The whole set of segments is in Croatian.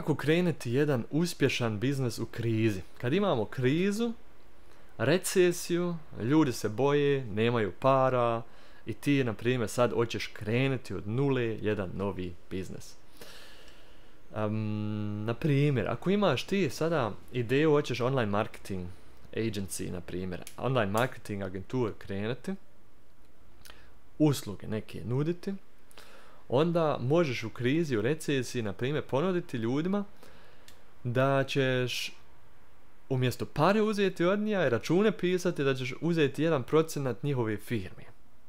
kako krenuti jedan uspješan biznis u krizi. Kad imamo krizu, recesiju, ljudi se boje, nemaju para i ti, na primjer, sad hoćeš krenuti od nule jedan novi biznis. Na primjer, ako imaš ti sada ideju, hoćeš online marketing agency, na primjer, online marketing agentur krenuti, usluge neke nuditi, onda možeš u krizi, u recesiji, na primjer, ponuditi ljudima da ćeš umjesto pare uzeti od njega i račune pisati, da ćeš uzeti 1% njihove firme.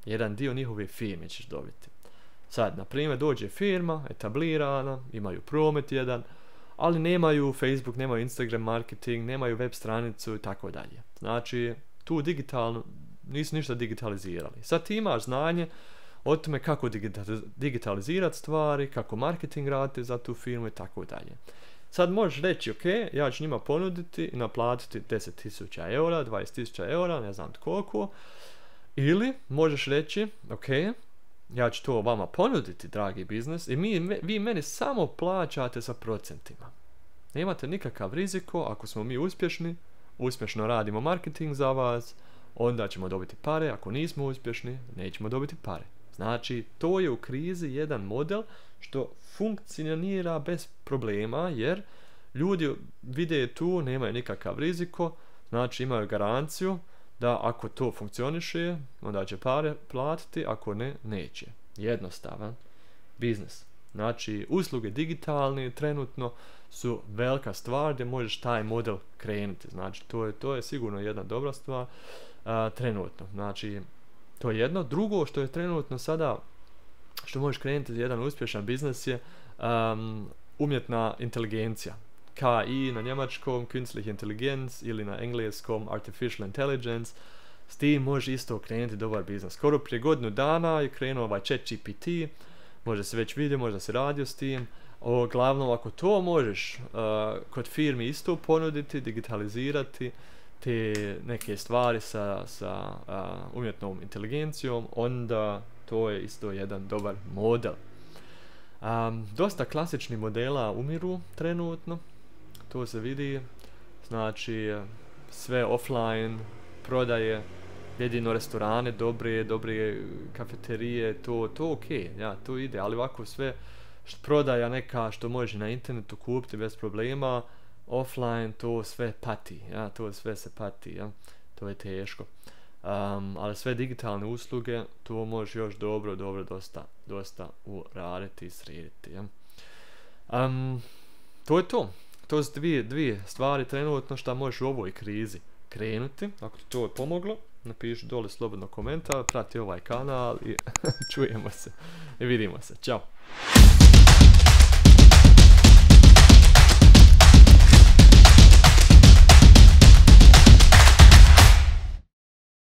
Jedan dio njihove firme ćeš dobiti. Sad, na primjer, dođe firma, etablirana, imaju promet jedan, ali nemaju Facebook, nemaju Instagram marketing, nemaju web stranicu i tako dalje. Znači, tu digitalno, nisu ništa digitalizirali. Sad ti imaš znanje o tome kako digitalizirati stvari, kako marketing raditi za tu firmu i tako dalje. Sad možeš reći, ok, ja ću njima ponuditi i naplatiti 10.000 eura, 20.000 eura, ne znam koliko. Ili možeš reći, ok, ja ću to vama ponuditi, dragi biznis, i vi meni samo plaćate sa procentima. Nemate nikakav riziko, ako smo mi uspješni, uspješno radimo marketing za vas, onda ćemo dobiti pare, ako nismo uspješni, nećemo dobiti pare. Znači, to je u krizi jedan model što funkcionira bez problema, jer ljudi vide tu, nemaju nikakav riziko, znači imaju garanciju da ako to funkcioniše, onda će pare platiti, ako ne, neće. Jednostavan biznis. Znači, usluge digitalne trenutno su velika stvar gdje možeš taj model krenuti. Znači, to je sigurno jedna dobra stvar trenutno. Znači, to je jedno. Drugo što je trenutno sada, što možeš krenuti jedan uspješan biznis je umjetna inteligencija. KI na njemačkom, Künstliche Intelligenz, ili na engleskom Artificial Intelligence. S tim može isto krenuti dobar biznis. Skoro prije godinu dana je krenuo ovaj ChatGPT, možda se već vidio, možda se radio s tim. Glavno, ako to možeš kod firmi isto ponuditi, digitalizirati te neke stvari sa umjetnom inteligencijom, onda to je isto jedan dobar model. Dosta klasičnih modela umiru trenutno, to se vidi, znači sve offline prodaje, jedino restorane dobre kafeterije, to ok, ja, to ide, ali ovako sve prodaja neka što možeš na internetu kupiti bez problema, offline to sve pati, ja, to sve se pati, ja, to je teško. Ali sve digitalne usluge, to možeš još dobro dosta uraditi i srediti. Ja. To je to. To su dvije stvari trenutno što možeš u ovoj krizi krenuti. Ako ti to je pomoglo, napiši dole slobodno komentar, prati ovaj kanal i čujemo se i vidimo se. Ćao!